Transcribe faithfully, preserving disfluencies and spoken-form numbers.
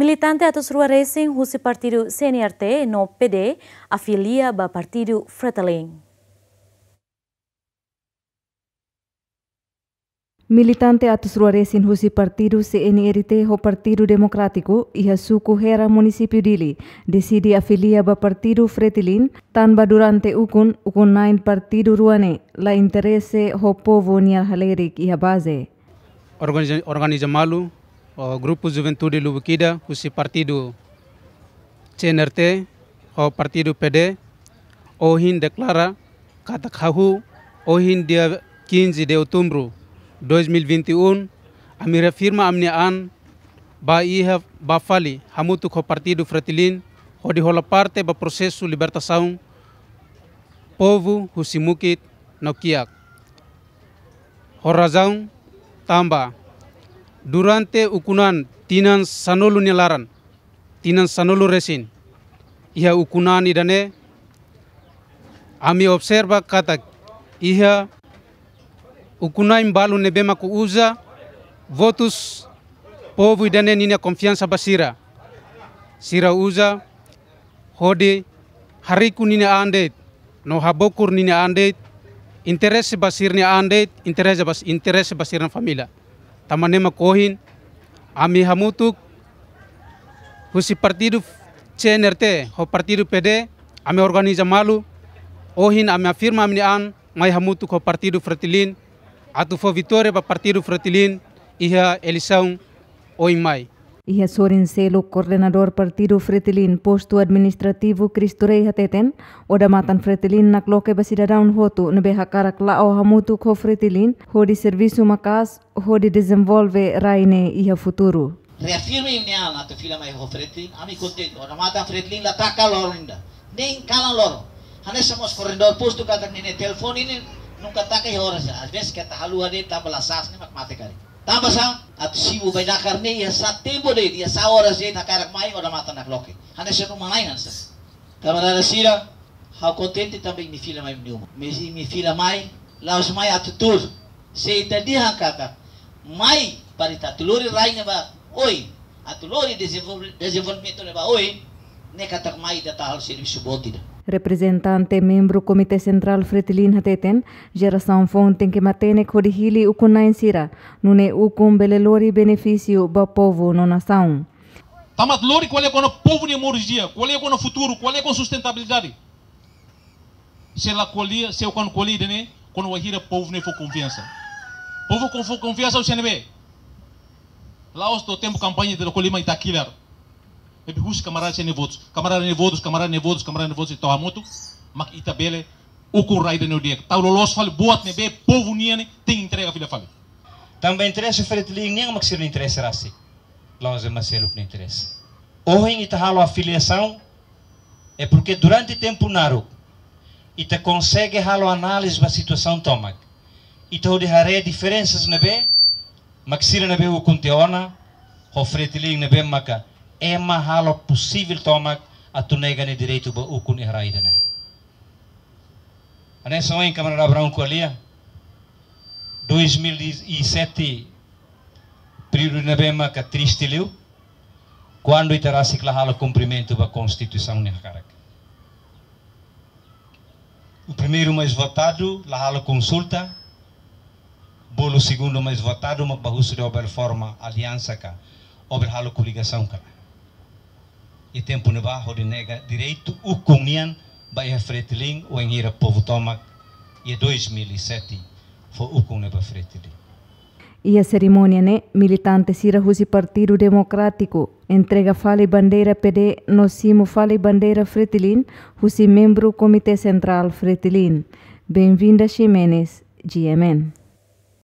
Militante atus rua resin husi partidu C N R T no P D afilia ba partidu Fretilin. Militante atus rua resin husi partidu C N R T ho Partidu Demokrátiku iha suku Hera, munisípiu Dili, deside afilia ba partidu Fretilin, tanba durante ukun, ukun-na'in partidu rua ne'e la interese ho povu nia halerik iha baze. Organiza, organiza malu, o grupu juventude lubuk ida husi partidu C N R T ho partidu P D, ohin deklara katak hahú ohin dia quinze de outubro dois mil e vinte e um, ami reafirma ami-nia an ba iha, ba fali hamutuk ho partidu Fretilin, hodi hola parte ba prosesu libertasaun povu husi mukit no kiak. Ho razaun tanba durante ukun-an tinan sanulu nia laran, tinan sanulu resin, iha ukun-an ida-ne'e, ami observa katak iha ukun-na'in balu ne'ebé mak uza votus povu ida-ne'e ninia konfiansa ba sira. Sira uza hodi hariku ninia an de'it, no habokur ninia an de'it, interese ba sira-nia an de'it, interese ba, interese ba sira-nia família. Tanba ne'e mak ohin, ami hamutuk husi partidu C N R T ho partidu P D, ami organiza malu, ohin ami afirma ami-nia an, mai hamutuk ho partidu Fretilin, atu fó vitória ba partidu Fretilin iha eleisaun oin mai. Iha sorin seluk, koordenadór partidu Fretilin postu administrativu Cristo Rei hateten, odamatan Fretilin nakloke ba sidadaun hotu ne'ebé hakarak la'o hamutuk ho Fretilin, hodi servisu maka'as, hodi dezenvolve rai ne'e iha futuru. Reafirma imi-nia an atu fila mai ho Fretilin, ami kontente. Odamatan Fretilin la taka loron ida, nein kalan loron. Hanesan mós koordenadór postu katak ninia telefone ne'e nunka taka iha oras ida. Às vezes keta haluha de'it tanba la sas ne'e mak mate karik. Tanba sá, atu simu bainakar ne'e iha sá tempu de'it, iha sá oras de'it hakarak mai, odamatan nakloke. Hanesan uma-na'in hanesan. Kamarada sira, ha'u kontente tanba imi fila mai imi-nia uma. Mas imi fila mai, la'ós mai atu tuur. Se ita dehan katak mai para ita atu lori rai ne'e ba oin, atu lori dezenvolve-, dezenvolvimentu ne'e ba oin, ne'e katak mai ita atu halo servisu boot ida. Reprezentante membru Komité Sentrál Fretilin hateten, jerasaun foun tenke matenek hodi hili ukun-na'in sira, nune'e ukun bele lori benefísiu ba povu no nasaun. Tanba atu lori ko'alia kona-ba povu nia moris di'ak, ko'alia kona-ba futuru, ko'alia kona-ba sustentabilidade. Se la ko'alia, se ukun ko'alia ida-ne'e, kuandu wainhira povu ne'e fó konfiansa. Povu kuandu fó konfiansa husi ne'ebé? La'ós to'o tempu kampaña ita ko'alia mai ita kilar. Ne'ebé husi kamarada sira-nia votus, kamarada nia votus, kamarada nia votus, kamarada nia votus, ita hamutuk, mak ita bele ukun rai ida-ne'e di'ak. Tau loloos fali buat ne'ebé povu nian ne'e tenke entrega fila fali. Tanba interese Fretilin nian mak sira-nia interese rasik. La'ós ema seluk nia interese. Ohin ita halo afiliasaun, é porque durante tempu naruk, ita konsege halo análize ba situasaun tomak. Ita hodi haree diferensas ne'ebé mak sira ne'ebé ukun tiha ona, ho Fretilin ne'ebé maka ema halo posivel tomak atu nega nia direitu ba ukun iha rai ida-ne'e. Hanesan ohin kamarada Abraão ko'alia, dois mil e sete, períodu ne'ebé maka triste liu, kuandu ita rasik la halo kumprimentu ba Konstituisaun nia hakarak. O primeiro mais votado la halo konsulta, bolu segundu mais votado mak bá husu de'it ó bele forma aliansa ka, ó bele halo koligasaun ka. Iha tempu ne'ebá hodi nega direitu ukun nian ba iha Fretilin, wainhira povu tomak iha dois mil e sete fó ukun ne'e ba Fretilin. Iha serimónia ne'e, militante sira husi Partidu Demokrátiku entrega fali bandeira P D no simu fali bandeira Fretilin husi membru Komité Sentrál Fretilin, Benvinda Ximenes, G M N.